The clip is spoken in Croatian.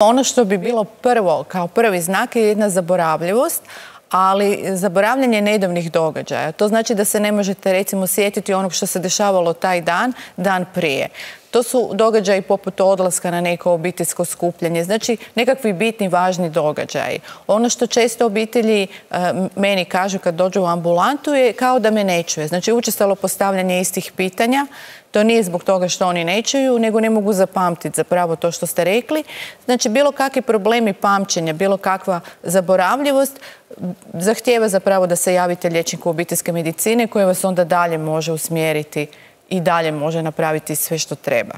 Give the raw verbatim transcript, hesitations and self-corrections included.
Ono što bi bilo prvo, kao prvi znak je jedna zaboravljivost, ali zaboravljanje nedavnih događaja. To znači da se ne možete recimo sjetiti onog što se dešavalo taj dan, dan prije. To su događaji poput odlaska na neko obiteljsko skupljanje, znači nekakvi bitni, važni događaji. Ono što često obitelji e, meni kažu kad dođu u ambulantu je kao da me ne čuje. Znači učestalo postavljanje istih pitanja, to nije zbog toga što oni ne čuju, nego ne mogu zapamtiti zapravo to što ste rekli. Znači bilo kakvi problemi pamćenja, bilo kakva zaboravljivost zahtijeva zapravo da se javite liječniku obiteljske medicine koji vas onda dalje može usmjeriti i dalje može napraviti sve što treba.